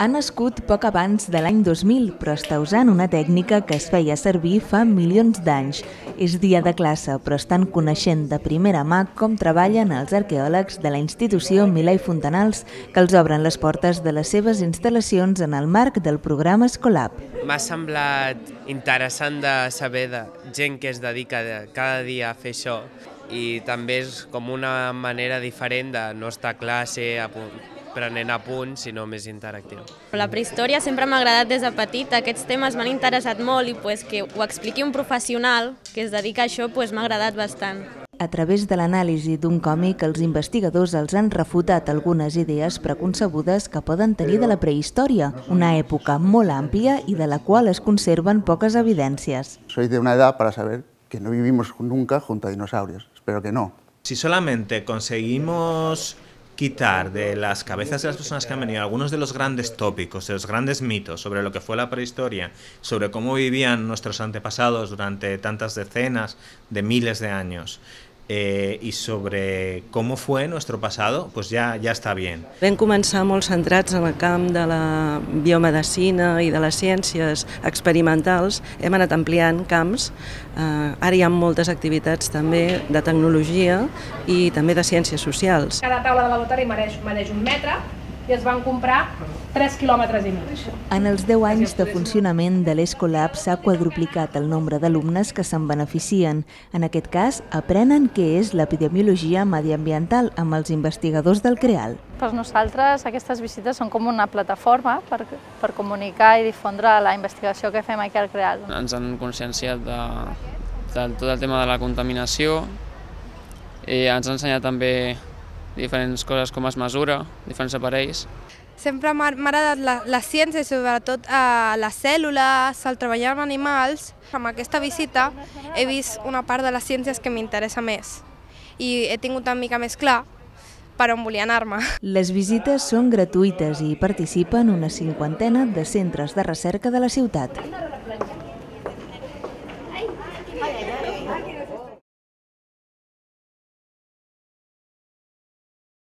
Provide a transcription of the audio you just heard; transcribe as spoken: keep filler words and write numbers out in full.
Ha nascut poc abans de l'any dos mil, però està usant una tècnica que es feia servir fa milions d'anys. És dia de classe, però estan coneixent de primera mà com treballen els arqueòlegs de la institució Milà i Fontanals, que els obren les portes de les seves instal·lacions en el marc del programa Escolab. M'ha semblat interessant de saber de gent que es dedica cada dia a fer això, i també és com una manera diferent de no estar a classe prenent apunts, sinó més interactiu. La prehistòria sempre m'ha agradat des de petit, aquests temes m'han interessat molt i pues, que ho expliqui un professional que es dedica a això pues, m'ha agradat bastant. A través de l'anàlisi d'un còmic, els investigadors els han refutat algunes idees preconcebudes que poden tenir de la prehistòria, una època molt àmplia i de la qual es conserven poques evidències. Soy de una edad para saber que no vivimos nunca junto a dinosaurios. Espero que no. Si solamente conseguimos quitar de las cabezas de las personas que han venido algunos de los grandes tópicos, de los grandes mitos sobre lo que fue la prehistoria, sobre cómo vivían nuestros antepasados durante tantas decenas de miles de años, eh, y sobre cómo fue nuestro pasado, pues ya, ya está bien. Vam començar molt centrats en el camp de la biomedicina i de les ciències experimentals, hem anat ampliant camps, eh, ara hi ha moltes activitats també de tecnologia i també de ciències socials. Cada taula de laboratori mereix, mereix un metre i es van comprar tres quilòmetres i mig. En els deu anys de funcionament de l'Escolab s'ha quadruplicat el nombre d'alumnes que se'n beneficien. En aquest cas, aprenen què és l'epidemiologia mediambiental amb els investigadors del CREAL. Per nosaltres aquestes visites són com una plataforma per, per comunicar i difondre la investigació que fem aquí al CREAL. Ens han conscienciat de, de tot el tema de la contaminació i ens han ensenyat també diferents coses com es mesura, diferents aparells. Sempre m'ha agradat la, la ciència, sobretot a les cèl·lules, el treballar amb animals. Amb aquesta visita he vist una part de les ciències que m'interessa més i he tingut una mica més clar per on volia anar-me. Les visites són gratuïtes i hi participen una cinquantena de centres de recerca de la ciutat.